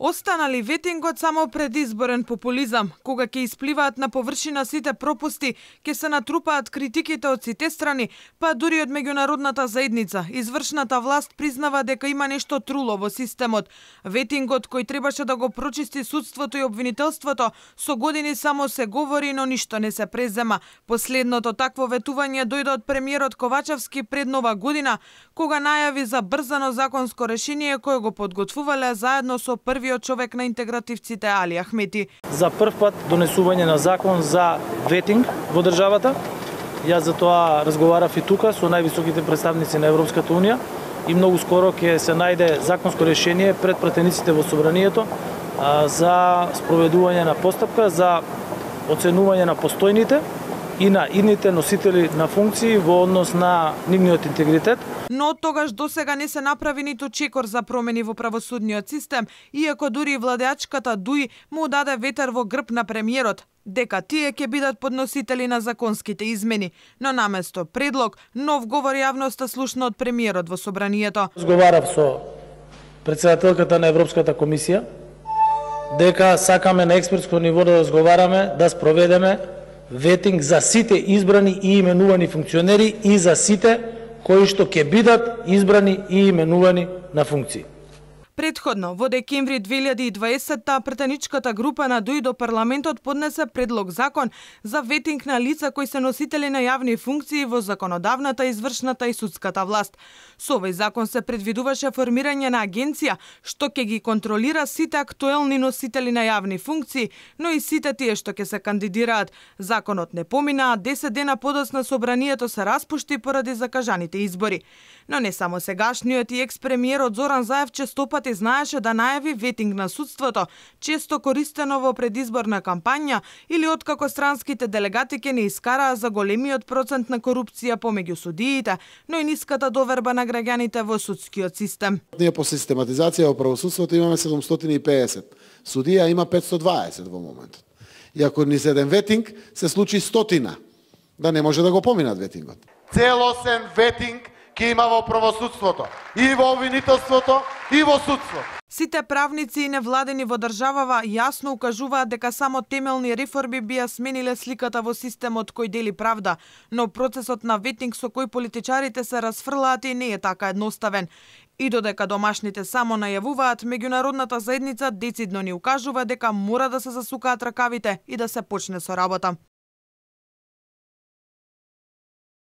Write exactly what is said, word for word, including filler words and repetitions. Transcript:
Останали ветингот само предизборен популизам, кога ќе испливаат на површина сите пропусти, ќе се натрупаат критиките од сите страни, па дури од меѓународната заедница. Извршната власт признава дека има нешто труло во системот. Ветингот кој требаше да го прочисти судството и обвинителството, со години само се говори, но ништо не се презема. Последното такво ветување дојде од премиерот Ковачевски пред Нова година, кога најави за брзано законско решение кое го подготвувале заедно со првиот човек на интегративците Али Ахмети. За прв пат донесување на закон за ветинг во државата. Јас за тоа разговарав и тука со највисоките представници на Европската унија и многу скоро ќе се најде законско решение пред пратениците во собранието за спроведување на постапка за оценување на постојните и на идните носители на функции во однос на нивниот интегритет. Но од тогаш до сега не се направи ниту чекор за промени во правосудниот систем, иако дури владеачката ДУИ му даде ветер во грб на премиерот, дека тие ќе бидат подносители на законските измени, но наместо предлог, нов говор јавноста слушна од премиерот во собранието. Разговарав со претседателката на Европската комисија дека сакаме на експертско ниво да разговараме, да спроведеме ветинг за сите избрани и именувани функционери и за сите кои што ќе бидат избрани и именувани на функции. Предходно, во декември две илјади и дваесетта, претеничката група на ДУИ до парламентот поднесе предлог закон за ветинг на лица кои се носители на јавни функции во законодавната, извршната и судската власт. Со овој закон се предвидуваше формирање на агенција што ќе ги контролира сите актуелни носители на јавни функции, но и сите тие што ќе се кандидираат. Законот не помина, а десет дена подоцна собранието се распушти поради закажаните избори. Но не само сегашниот и екс-премиерот Зоран Заев често пати знаеше да најави ветинг на судството, често користено во предизборна кампања или откако странските делегати ке не искараа за големиот процент на корупција помеѓу судиите, но и ниската доверба на граѓаните во судскиот систем. Ние по систематизација во правосудството имаме седумстотини и пеесет, судија има петстотини и дваесет во моментот. И ако ни седен ветинг, се случи стотина, да не може да го поминат ветингот. Целосен ветинг ќе има во правосудството, и во обвинителството, и во судството. Сите правници и невладени во државава јасно укажуваат дека само темелни реформи би ја смениле сликата во системот кој дели правда, но процесот на ветинг со кој политичарите се расфрлаат и не е така едноставен. И додека домашните само најавуваат, меѓународната заедница децидно ни укажува дека мора да се засукаат ракавите и да се почне со работа.